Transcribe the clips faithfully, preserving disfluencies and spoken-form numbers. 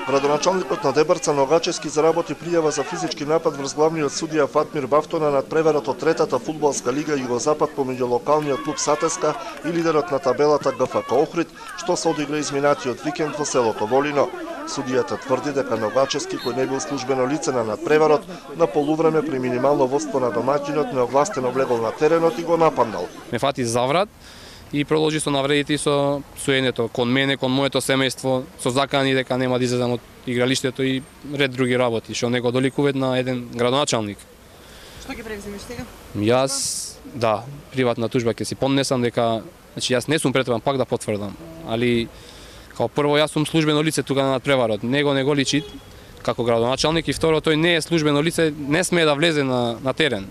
Градоначалникот на Дебарца Ногачевски заработи пријава за физички напад врз главниот судија Фатмир Бафто на надпреварот од третата фудбалска лига Југозапад помеѓу локалниот клуб Сатеска и лидерот на табелата ГФК Охрид, што се одигра изминатиот викенд во селото Волино. Судијата тврди дека Ногачевски, кој не бил службено лице на надпреварот, на полувреме при минимално водство на домаќинот неогласено влегол на теренот и го нападнал. Ме фати заврат и продолжи со навредите и со суењето кон мене, кон моето семејство, со закани дека нема да излезам од игралиштето и ред други работи, што не го доликуваат на еден градоначалник. Што ќе превземеш сега? Јас, да, приватна тужба ќе си поднесам дека, значи јас не сум претваран, пак да потврдам, али као прво јас сум службено лице тука на надпреварот, него не го личи како градоначалник и второ тој не е службено лице, не смее да влезе на на терен.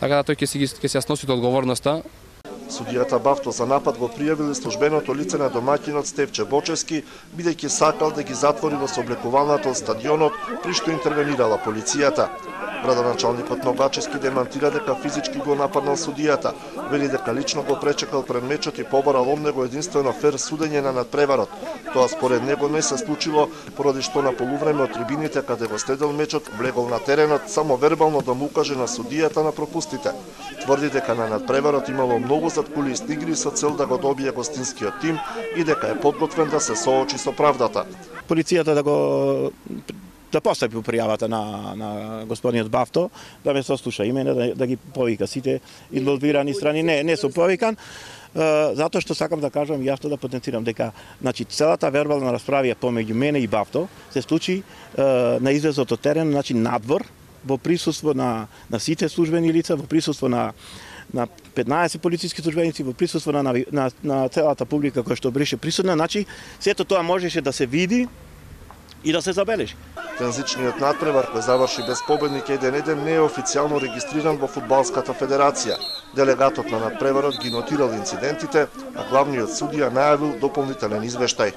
Така да тој ќе си ќе си носи одговорноста. Судијата Бафто за напад го пријавил службеното лице на домаќинот Стевче Бочевски, бидејќи сакал да ги затвори во сооблекуваната од стадионот, при што интервенирала полицијата. Градоначалникот Ногачевски демантира дека физички го нападнал судијата, вели дека лично го пречекал пред мечот и побарал од него единствено фер судење на надпреварот. Тоа според него не се случило, поради што на полувреме од трибините каде го следел мечот влегол на теренот само вербално да му укаже на судијата на пропустите. Тврди дека на надпреварот имало многу заткулисни игри со цел да го добие гостинскиот тим и дека е подготвен да се соочи со правдата. Полицијата да го да постапи пријавата на на господинот Бафто, да ме сослуша и мене, да, да ги повика сите инволвирани страни. Не, не сум повикан, затоа што сакам да кажам јасно да потенцирам дека значи целата вербална расправа помеѓу мене и Бафто се случи на излезот од терен, значи надвор, во присуство на на сите службени лица, во присуство на на петнаесет полициски службеници, во присуство на на на целата публика која што беше присутна, значи сето тоа можеше да се види и да се забележи. Тензичниот надпревар кој заврши без победник еден еден не е официјално регистриран во Фудбалската федерација. Делегатот на надпреварот ги нотирал инцидентите, а главниот судија најавил дополнителен извештај.